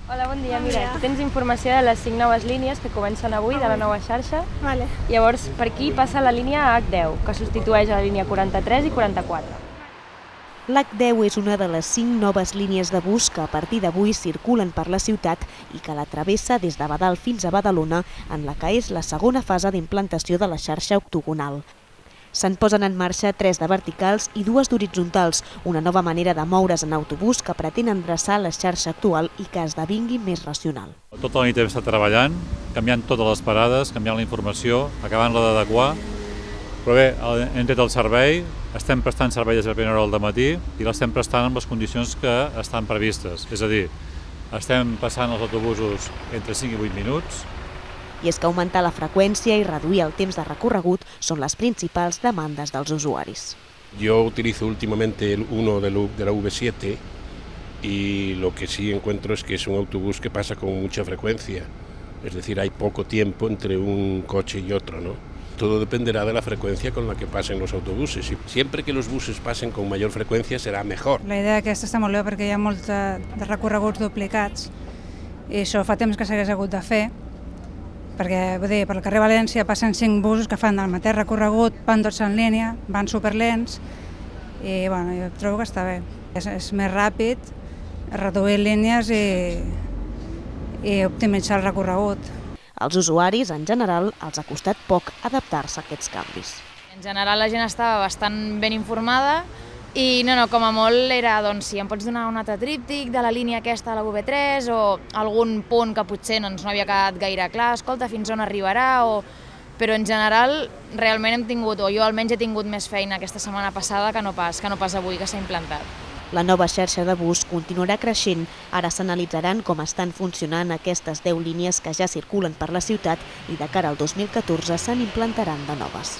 Hola, bon dia. Mira, aquí tens informació de les 5 noves línies que comencen avui de la nova xarxa. Vale. Llavors, per aquí passa la línia H10, que substitueix a la línia 43 i 44. L'H10 és una de les 5 noves línies de bus que a partir d'avui circulen per la ciutat i que la travessa des de Badal fins a Badalona, en la que és la segona fase d'implantació de la xarxa octogonal. Se'n posen en marxa 3 de verticals i 2 d'horitzontals, una nova manera de moure's en autobús que pretén endreçar la xarxa actual i que esdevingui més racional. Tota la nit hem estat treballant, canviant totes les parades, canviant la informació, acabant-la d'adequar. Però bé, hem tret el servei, estem prestant servei des de la primera hora del matí i l'estem prestant amb les condicions que estan previstes. És a dir, estem passant els autobusos entre 5 i 8 minuts. I és que augmentar la freqüència i reduir el temps de recorregut són les principals demandes dels usuaris. Yo utilizo últimamente uno de la V7 y lo que sí encuentro es que es un autobús que pasa con mucha frecuencia. Es decir, hay poco tiempo entre un coche y otro, ¿no? Todo dependerá de la frecuencia con la que pasen los autobuses. Y siempre que los buses pasen con mayor frecuencia será mejor. La idea aquesta està molt bé perquè hi ha molts de recorreguts duplicats i això fa temps que s'hagués hagut de fer, perquè vull dir, per al carrer València passen 5 busos que fan el mateix recorregut, van tots en línia, van superlents i bueno, jo trobo que està bé. És més ràpid, reduir línies i optimitzar el recorregut. Als usuaris, en general, els ha costat poc adaptar-se a aquests canvis. En general la gent estava bastant ben informada i com a molt era, doncs, si em pots donar un altre tríptic de la línia aquesta de la V3 o algun punt que potser no havia quedat gaire clar, escolta, fins on arribarà, però en general realment hem tingut, o jo almenys he tingut més feina aquesta setmana passada que no pas avui que s'ha implantat. La nova xarxa de bus continuarà creixent. Ara s'analitzaran com estan funcionant aquestes 10 línies que ja circulen per la ciutat i de cara al 2014 se n'implantaran de noves.